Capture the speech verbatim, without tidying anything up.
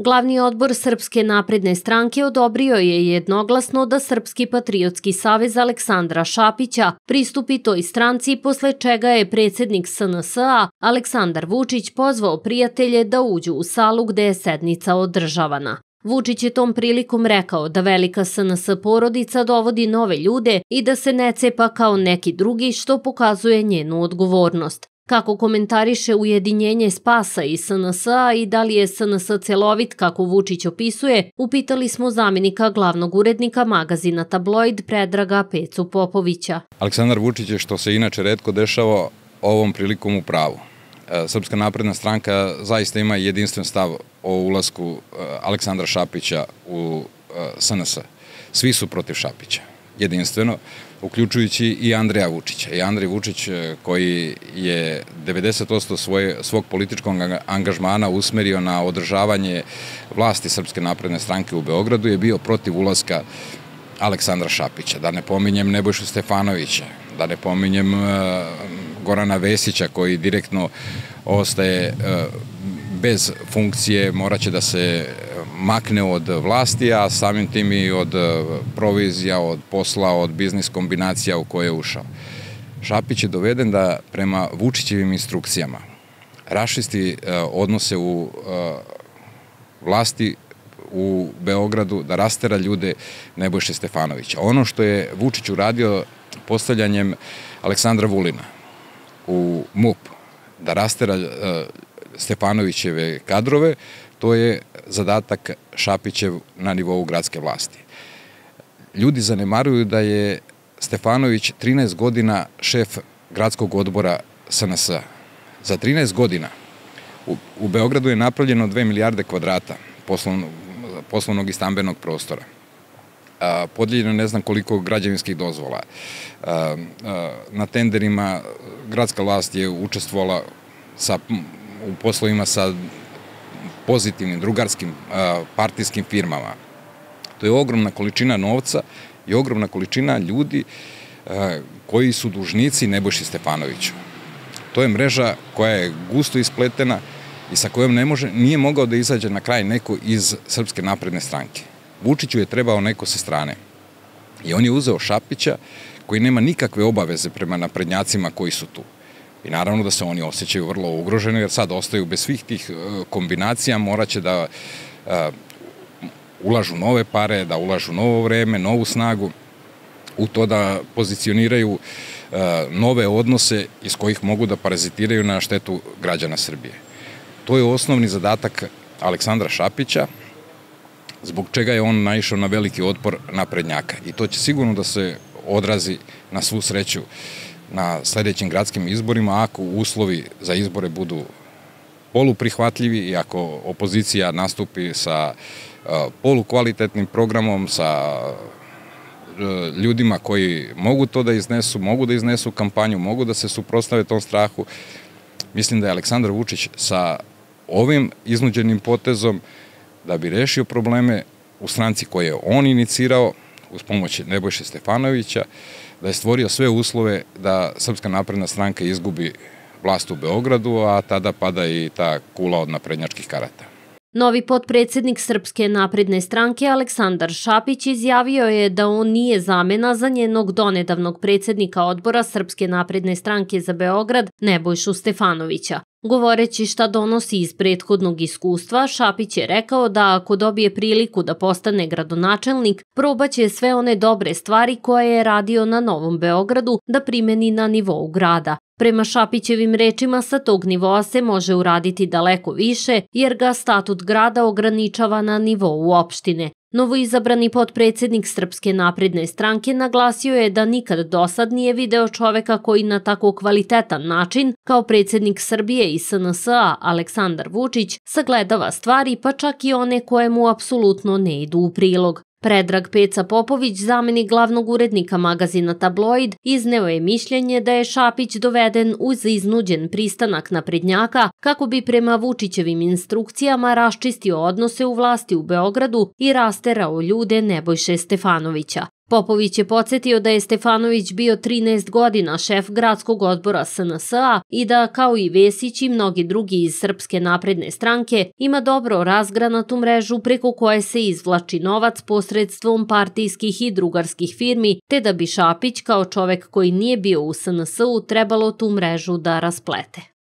Glavni odbor Srpske napredne stranke odobrio je jednoglasno da Srpski patriotski savez Aleksandra Šapića pristupi toj stranci, posle čega je predsjednik S N S A Aleksandar Vučić pozvao prijatelje da uđu u salu gde je sednica održavana. Vučić je tom prilikom rekao da velika S N S porodica dovodi nove ljude i da se ne cepa kao neki drugi, što pokazuje njenu odgovornost. Kako komentariše ujedinjenje Spasa i S N S A i da li je S N S celovit kako Vučić opisuje, upitali smo zamjenika glavnog urednika magazina Tabloid Predraga Pecu Popovića. Aleksandar Vučić je, što se inače retko dešava, ovom prilikom u pravu. Srpska napredna stranka zaista ima jedinstven stav o ulasku Aleksandra Šapića u S N S. Svi su protiv Šapića, jedinstveno, uključujući i Andreja Vučića. I Andrej Vučić, koji je devedeset posto svog političkog angažmana usmerio na održavanje vlasti Srpske napredne stranke u Beogradu, je bio protiv ulaska Aleksandra Šapića. Da ne pominjem Nebojšu Stefanovića, da ne pominjem Gorana Vesića, koji direktno ostaje bez funkcije, moraće da se makne od vlasti, a samim tim i od provizija, od posla, od biznis kombinacija u koje je ušao. Šapić je doveden da prema Vučićevim instrukcijama raščisti odnose u vlasti u Beogradu, da rastera ljude Nebojše Stefanovića. Ono što je Vučić uradio postavljanjem Aleksandra Vulina u M U P, da rastera Stefanovićeve kadrove, to je zadatak Šapićev na nivou gradske vlasti. Ljudi zanemaruju da je Stefanović trinaest godina šef gradskog odbora S N S A. Za trinaest godina u Beogradu je napravljeno dve milijarde kvadrata poslovnog i stambenog prostora. Podijeljeno ne znam koliko građevinskih dozvola. Na tenderima gradska vlast je učestvovala u poslovima sa pozitivnim, drugarskim, partijskim firmama. To je ogromna količina novca i ogromna količina ljudi koji su dužnici Nebojši Stefanoviću. To je mreža koja je gusto ispletena i sa kojom ne može, nije mogao da izađe na kraj neko iz Srpske napredne stranke. Vučiću je trebao neko sa strane. I on je uzeo Šapića, koji nema nikakve obaveze prema naprednjacima koji su tu. I naravno da se oni osjećaju vrlo ugroženi, jer sad ostaju bez svih tih kombinacija, moraće da ulažu nove pare, da ulažu novo vreme, novu snagu, u to da pozicioniraju nove odnose iz kojih mogu da parazitiraju na štetu građana Srbije. To je osnovni zadatak Aleksandra Šapića, zbog čega je on naišao na veliki otpor naprednjaka. I to će sigurno da se odrazi na svu sreću na sledećim gradskim izborima, ako uslovi za izbore budu poluprihvatljivi i ako opozicija nastupi sa polukvalitetnim programom, sa ljudima koji mogu to da iznesu, mogu da iznesu kampanju, mogu da se suprotstave tom strahu. Mislim da je Aleksandar Vučić sa ovim iznuđenim potezom, da bi rešio probleme u stranci koje je on inicirao uz pomoć Nebojše Stefanovića, da je stvorio sve uslove da Srpska napredna stranka izgubi vlast u Beogradu, a tada pada i ta kula od naprednjačkih karata. Novi potpredsjednik Srpske napredne stranke Aleksandar Šapić izjavio je da on nije zamena za njenog donedavnog predsjednika odbora Srpske napredne stranke za Beograd Nebojšu Stefanovića. Govoreći šta donosi iz prethodnog iskustva, Šapić je rekao da ako dobije priliku da postane gradonačelnik, probaće sve one dobre stvari koje je radio na Novom Beogradu da primeni na nivou grada. Prema Šapićevim rečima, sa tog nivoa se može uraditi daleko više, jer ga statut grada ograničava na nivou opštine. Novoizabrani potpredsjednik Srpske napredne stranke naglasio je da nikad dosad nije video čoveka koji na tako kvalitetan način, kao predsjednik Srbije i S N S A Aleksandar Vučić, sagledava stvari, pa čak i one koje mu apsolutno ne idu u prilog. Predrag Peca Popović, zamenik glavnog urednika magazina Tabloid, izneo je mišljenje da je Šapić doveden uz iznuđen pristanak naprednjaka kako bi prema Vučićevim instrukcijama raščistio odnose u vlasti u Beogradu i rasterao ljude Nebojše Stefanovića. Popović je podsjetio da je Stefanović bio trinaest godina šef gradskog odbora S N S-a i da, kao i Vesić i mnogi drugi iz Srpske napredne stranke, ima dobro razgranatu mrežu preko koje se izvlači novac posredstvom partijskih i drugarskih firmi, te da bi Šapić, kao čovek koji nije bio u S N S-u, trebalo tu mrežu da rasplete.